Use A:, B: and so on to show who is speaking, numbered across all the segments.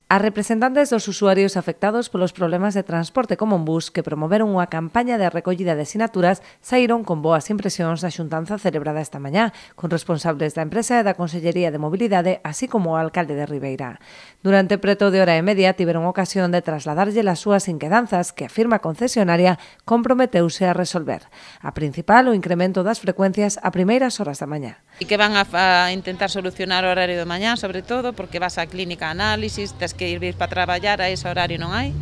A: As representantes dos usuarios afectados polos problemas de transporte con Monbús que promoveron unha campaña de recollida de sinaturas saíron con boas impresións da xuntanza celebrada esta mañá con responsables da empresa e da Consellería de Mobilidade, así como o alcalde de Ribeira. Durante preto de hora e media tiveron ocasión de trasladarlle as súas inquedanzas que a firma concesionaria comprometeuse a resolver. A principal, o incremento das frecuencias a primeiras horas da mañá.
B: E que van a intentar solucionar o horario de mañá, sobre todo, porque vas á clínica a análisis, tes que ir para traballar, a ese horario non hai.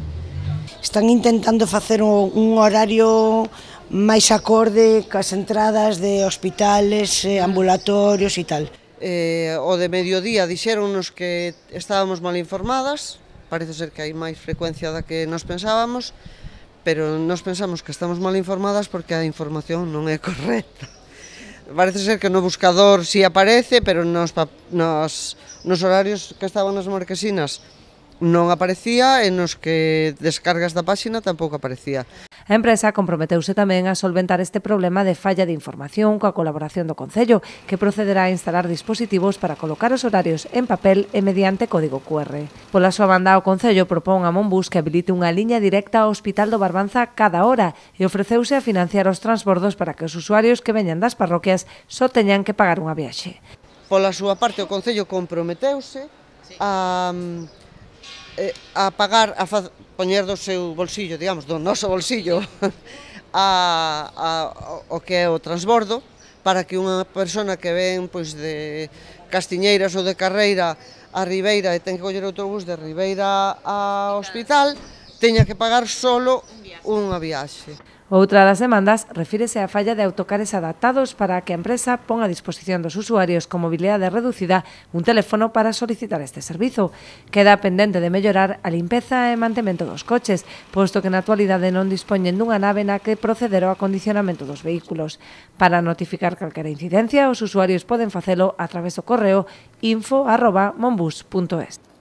C: Están intentando facer un horario máis acorde cas entradas de hospitales, ambulatorios e tal.
D: O de mediodía dixéronnos que estábamos mal informadas, parece ser que hai máis frecuencia da que nos pensábamos, pero nos pensamos que estamos mal informadas porque a información non é correcta. Parece ser que no buscador si aparece, pero nos horarios que estaban nas marquesinas non aparecía e nos que descargas da páxina tampouco aparecía.
A: A empresa comprometeuse tamén a solventar este problema de falla de información coa colaboración do Concello, que procederá a instalar dispositivos para colocar os horarios en papel e mediante código QR. Pola súa banda, o Concello propón a Monbús que habilite unha liña directa ao Hospital do Barbanza cada hora e ofreceuse a financiar os transbordos para que os usuarios que veñan das parroquias só teñan que pagar unha viaxe.
D: Pola súa parte, o Concello comprometeuse a pagar, a poñer do seu bolsillo, digamos, do noso bolsillo, o que é o transbordo, para que unha persona que ven pois, de Castiñeiras ou de Carreira a Ribeira e ten que coller autobús de Ribeira ao hospital, teña que pagar solo unha viaxe.
A: Outra das demandas refírese á falla de autocares adaptados para que a empresa pon a disposición dos usuarios con mobilidade reducida un teléfono para solicitar este servizo. Queda pendente de mellorar a limpeza e mantemento dos coches, posto que na actualidade non dispoñen dunha nave na que proceder ao acondicionamento dos vehículos. Para notificar calquera incidencia, os usuarios poden facelo a través do correo info@monbus.es.